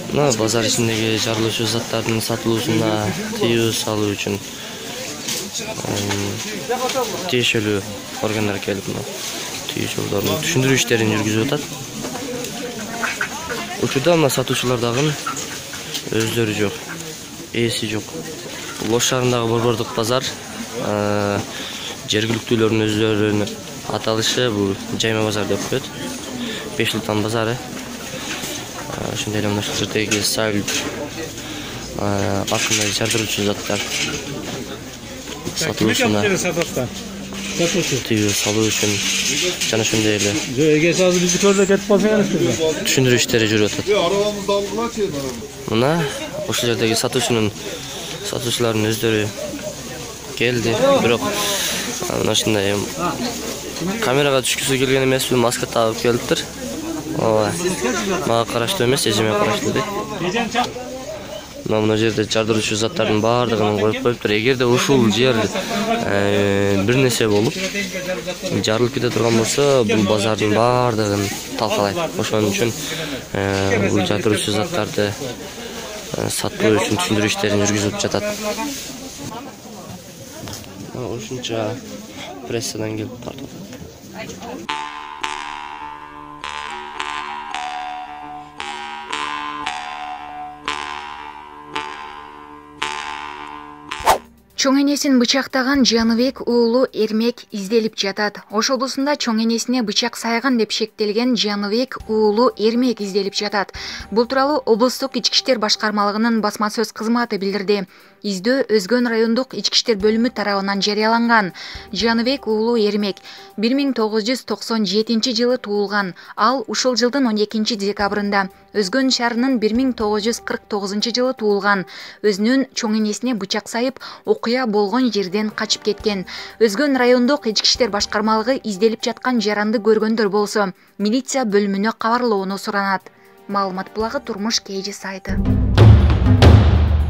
Мына базар ичиндеги жарылуучу заттардын сатылуусуна тыюу салуу үчүн тиешелүү органдар келип мына тыюу жолдорун түшүндүрүү иштерин жүргүзүп атат. Учурда мына сатуучулар дагы өздөрү жок, ээси жок. Бул Ош шаарындагы борбордук базар жергиликтүүлөрдүн өздөрүнүн аталышы бул жайма базар деп коет. Бешлутан базары. Ошондой эле мына ушул жердеги салып акындай жардыруучу заттар сатылуусуна тыюу салуу үчүн жана ошондой эле эгерчи азыр бизди көрсө кетип калсаңарчы түшүндүрүү иштери жүрүп атат. Мына ошол жердеги сатуучулардын өздөрү келди, бирок мына ушундай камерага түшкүсү келген эмес, маска тагып келиптир. Ооба. Мага караштуу эмес, эжеме караштуу дейт. Мына жерде жардыруучу заттардын баардыгын коюп коюптур. Эгерде ушул жер бир нерсе болуп жарылып кете турган болсо, бул базардын баардыгын талкалайт. Ошон үчүн бул жардыруучу заттарды сатуу үчүн түшүндүрүү иштерин жүргүзүп жатат. Ушунча прессадан келип тартып. Чоң энесин бычактаган Жаныбек уулу Эрмек изделип жатат. Ош облусунда чоң энесине бычак сайган деп шектелген Жаныбек уулу Эрмек изделип жатат. Бул тууралуу облустук ички иштер башкармалыгынын басма сөз кызматы билдирди. Издөө Өзгөн райондук ички иштер бөлүмү тарабынан жарыяланган. Жаныбек уулу Эрмек 1997 жылы туулган. Ал ушул жылдын 12 декабрында Өзгөн шаарынын 1949 жылы туулган. Өзүнүн чоң энесине бычак сайып, окуя болгон жерден качып кеткен. Өзгөн райондук ички иштер башкармалыгы изделип жаткан жаранды көргөндөр болсо, милиция бөлүмүнө кабарлоону суранат. Маалымат булагы Турмуш KG сайты.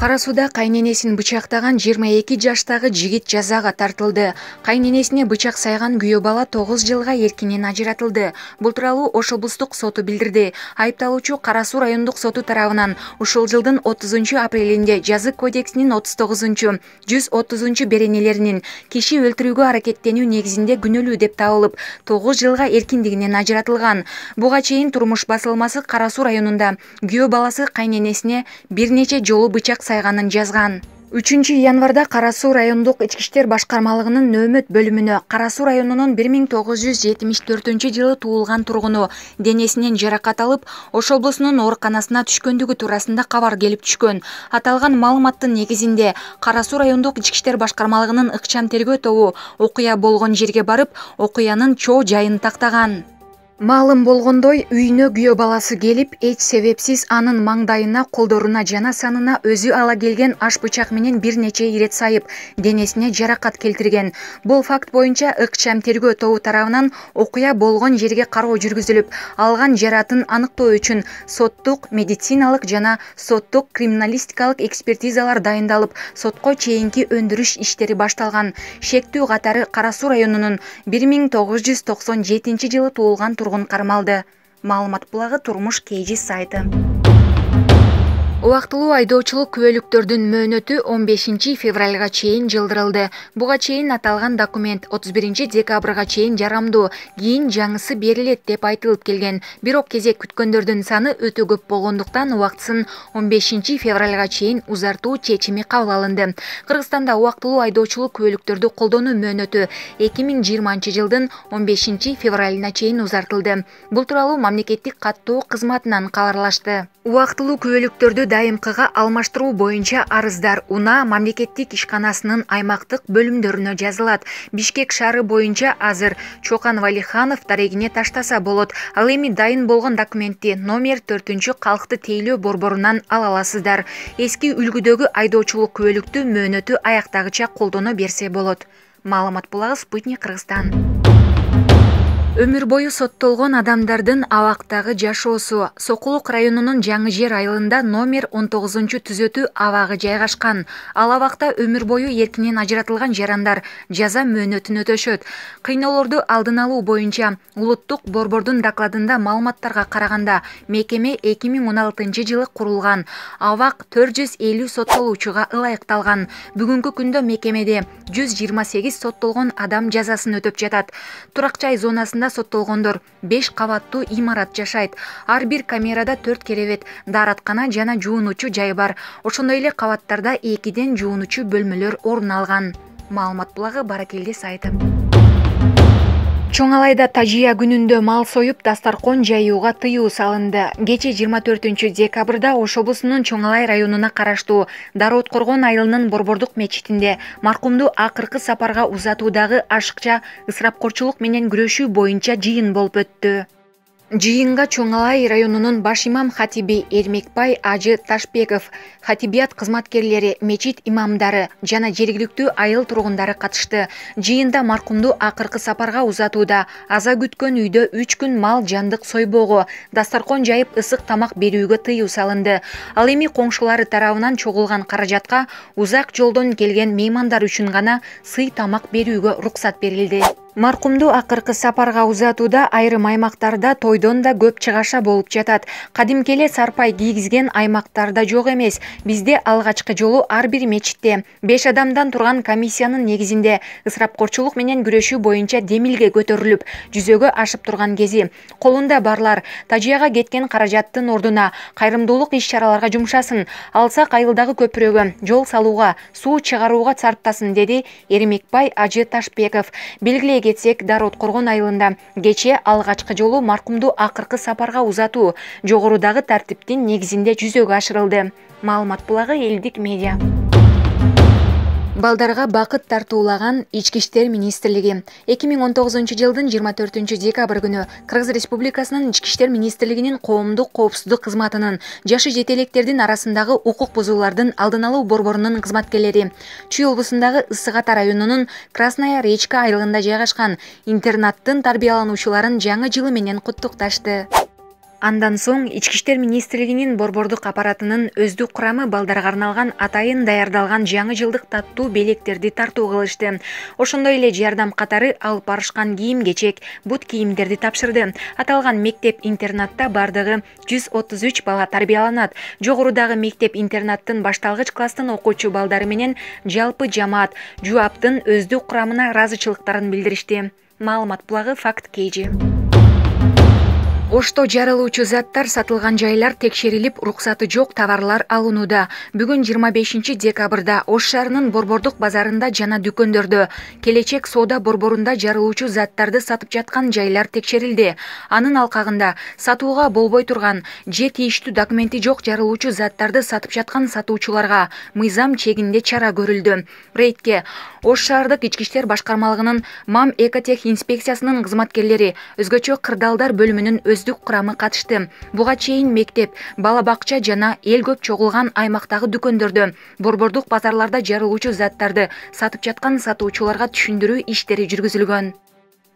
Кара Сууда кайненесин бычактаган 22 жаштагы жигит жазага тартылды. Кайненесине бычак сайган күйөө бала 9 жылга эркинен ажыратылды. Бул тууралуу Ош облустук соту билдирди. Айыпталуучу Кара Суу райондук соту тарабынан ушул жылдын 30 апрелинде Жазык кодексинин 39-130 беренелеринин киши өлтүрүүгө аракеттенүү негизинде күнөөлүү деп табылып, 9 жылга эркиндигинен ажыратылган. Буга чейин Турмуш басылмасы Кара Суу районунда күйөө баласы кайненесине бир нече жолу бычак сайганын жазган. 3 январда Кара Суу райондук ички иштер башкармалыгынын нөөмөт бөлүмүнө Кара Суу районунун 1974 жылы туулган тургуну денесинен жаракат алып, Ош облусунун ооруканасына түшкөндүгү туурасында кабар келип түшкөн. Аталган маалыматтын негизинде Кара Суу райондук ички иштер башкармалыгынын ыкчам тергөө тобу окуя болгон жерге барып, окуянын чоо жайын тактаган. Маалым болгондой, үйүнө күйөө баласы келип, эч себепсиз анын маңдайына, колдоруна жана санына өзү ала келген аш бычак менен бир нече ирет сайып, денесине жаракат келтирген. Бул факт боюнча ыкчам тергөө тобу тарабынан окуя болгон жерге кароо жүргүзүлүп, алган жаратын аныктоо үчүн соттук, медициналык жана соттук криминалистикалык экспертизалар дайындалып, сотко чейинки өндүрүш иштери башталган. Шектүү катары Кара Суу районунун 1997 жылы туулган кармалды. Маалымат булагы Турмуш KG сайты. Убактылуу айдоочулук күбөлүктөрдүн мөөнөтү 15 февралга чейин жылдырылды. Буга чейин аталган документ 31 декабрга чейин жарамдуу, кийин жаңысы берилет деп айтылып келген. Бирок кезек күткөндөрдүн саны өтө көп болгондуктан убактысын 15 февралга чейин узартуу чечими кабыл алынды. Кыргызстанда убактылуу айдоочулук күбөлүктөрдү колдонуу мөөнөтү 2020 жылдын 15 февралына чейин узартылды. Бул тууралуу мамлекеттик каттоо кызматынан кабарлашты. Убактылуу күбөлүктөрдү дайымкыга алмаштыруу боюнча арыздар УНА мамлекеттик ишканасынын аймактык бөлүмдөрүнө жазылат. Бишкек шаары боюнча азыр Чокан Валиханов дарегине таштаса болот. Ал эми дайын болгон документти номер 4 калкты тейлөө борборунан ала аласыздар. Эски үлгүдөгү айдоочулук күбөлүктү мөөнөтү аяктагыча колдоно берсе болот. Маалымат булагы Спутник Кыргызстан. Өмүр бою соттолгон адамдардын абактагы жашоосу. Сокулук районунун Жаңы Жер айылында номер 19-түзөтүү абагы жайгашкан. Ал абакта өмүр бою эркинен ажыратылган жарандар жаза мөөнөтүн өтөшөт. Кыйноолорду алдын алуу боюнча улуттук борбордун докладында маалыматтарга караганда мекеме 2016-жылы курулган. Абак 450 соттолуучуга ылайыкталган. Бүгүнкү күндө мекемеде 128 соттолгон адам жазасын өтөп жатат. Турак жай зонасында соттолгондор 5 кабаттуу имарат жашайт. Ар бир камерада 4 керебет, даараткана жана жуунуучу жай бар. Ошондой эле кабаттарда 2ден жуунуучу бөлмөлөр орун алган. Маалымат булагы Баракелде сайты. Чоң Алайда Тажия күнүндө мал союп дастаркон жаюуга тыюу салынды. Кече 24-декабрда Ош облусунун Чоң Алай районуна караштуу Дарооткоргон айылынын Борбордук мечитинде маркумду акыркы сапарга узатуудагы ашыкча ысырапкорчулук менен күрөшүү боюнча жыйын болуп өттү. Жыйынга Чоң Алай районунун баш имам хатиби Эрмекбай Ажы Ташбеков, хатибият кызматкерлери, мечит имамдары жана жергиликтүү айыл тургундары катышты. Жыйында маркумду акыркы сапарга узатууда аза күткөн үйдө 3 күн мал жандык сойбоого, дастаркон жайып ысык тамак берүүгө тыюу салынды. Ал эми коңшулары тарабынан чогулган каражатка узак жолдон келген меймандар үчүн гана сый тамак берүүгө уруксат берилди. Маркумду акыркы сапарга узатууда айрым аймактарда тойдон да көп чыгаша болуп жатат. Кадимки эле сарпай кийгизген аймактарда жок эмес. Бизде алгачкы жолу ар бир мечитте 5 адамдан турган комиссиянын негизинде ысырапкорчулук менен күрөшүү боюнча демилге көтөрүлүп, жүзөгө ашып турган кези. Колунда барлар Тажияга кеткен каражаттын ордуна кайрымдуулук иш-чараларга жумшасын, алсак айылдагы көпүрөгө, жол салууга, суу чыгарууга сарптасын, деди Эрмекбай Ажы Ташбеков. Белгилей кетсек, Дарооткоргон айылында кече алгачкы жолу маркумду акыркы сапарга узатуу жогорудагы тартиптин негизинде жүзөгө ашырылды. Маалымат булагы Элдик медиа. Балдарга бакыт тартуулаган Ички иштер министрлиги 2019-жылдын 24-декабрь күнү Кыргыз Республикасынын Ички иштер министрлигинин коомдук коопсуздук кызматынын жашы жетелектердин арасындагы укук бузуулардын алдын алуу борборунун кызматкерлери Чүй облусундагы Ысык Ата районунун Красная Речка айылында жайгашкан интернаттын тарбиялануучуларын жаңы жылы менен куттукташты. Андан соң Ички иштер министрлигинин борбордук аппаратынын өздүк курамы балдарга арналган атайын даярдалган жаңы жылдык таттуу белектерди тартуу кылышты. Ошондой эле жардам катары алып барышкан кийим-кечек, бут кийимдерди тапшырды. Аталган мектеп-интернатта бардыгы 133 бала тарбияланат. Жогорудагы мектеп-интернаттын башталгыч класстын окуучу балдары менен жалпы жамаат жууаптын өздүк курамына ыраазычылыктарын билдиришти. Маалымат булагы Факт Кейжи. Ошто жарылуучу заттар сатылган жайлар текшерилип, уруксаты жок товарлар алынууда. Бүгүн 25-декабрда Ош шаарынын Борбордук базарында жана дүкөндөрдө, Келечек соода борборунда жарылуучу заттарды сатып жаткан жайлар текшерилди. Анын алкагында сатууга болбой турган же тийиштүү документи жок жарылуучу заттарды сатып жаткан сатуучуларга мыйзам чегинде чара көрүлдү. Рейдке Ош шаардык ички иштер башкармалыгынын МАМ Экотех инспекциясынын кызматкерлери, өзгөчө кырдаалдар бөлүмүнүн өздүк курамы катышты. Буга чейин мектеп, бала бакча жана эл көп чогулган аймактагы дүкөндөрдө, борбордук базарларда жарылуучу заттарды сатып жаткан сатуучуларга түшүндүрүү иштери жүргүзүлгөн.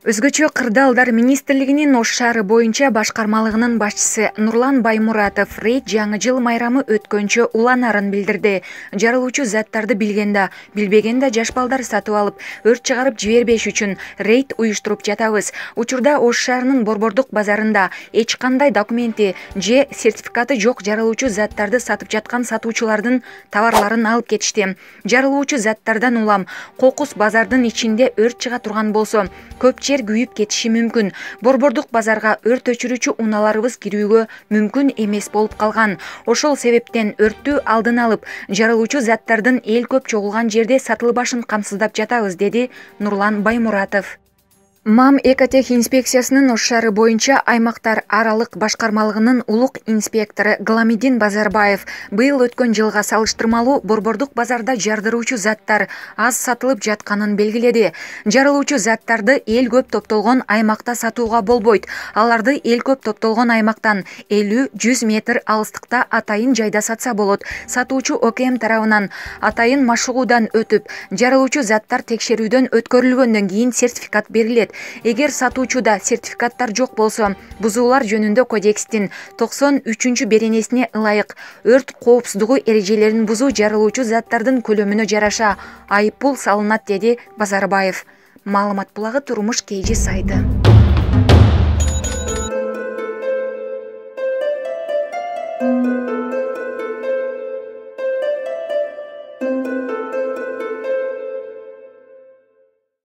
Өзгөчө кырдаалдар министрлигинин Ош шаары боюнча башкармалыгынын башчысы Нурлан Баймуратов рейд жаңы жыл майрамы өткөнчө уланарын билдирди. Жарылуучу заттарды билгенде, билбегенде жаш балдар сатып алып, өрт чыгарып жибербеш үчүн рейд уюштуруп жатабыз. Учурда Ош шаарынын Борбордук базарында эч кандай документи же сертификаты жок жарылуучу заттарды сатып жаткан сатуучулардын товарларын алып кетишти. Жарылуучу заттардан улам кокус базардын ичинде өрт чыга турган болсо, көп күйүп кетиши мүмкүн. Борбордук базарга өрт өчүрүүчү унааларыбыз кирүүгө мүмкүн эмес болуп калган. Ошол себептен өрттү алдын алып, жарылуучу заттардын эл көп чогулган жерде сатылбашын камсыздап жатабыз, деди Нурлан Баймуратов. МАМ Экотех инспекциясынын Ош шаары боюнча аймактар аралык башкармалыгынын улук инспектору Гламидин Базарбаев быйыл өткөн жылга салыштырмалуу борбордук базарда жардыруучу заттар аз сатылып жатканын белгиледи. Жарылуучу заттарды эл көп топтолгон аймакта сатууга болбойт. Аларды эл көп топтолгон аймактан 50-100 метр алыстыкта атайын жайда сатса болот. Сатуучу ОКМ тарабынан атайын машыгуудан өтүп, жарылуучу заттар текшерүүдөн өткөрүлгөндөн кийин сертификат берилет. Эгер сатуучуда сертификаттар жок болсо, бузуулар жөнүндө кодекстин 93 беренесине ылайык өрт коопсуздугу эрежелерин бузуу жарылуучу заттардын көлөмүнө жараша айыппул салынат, деди Базарбаев. Маалымат булагы Турмуш KG сайты.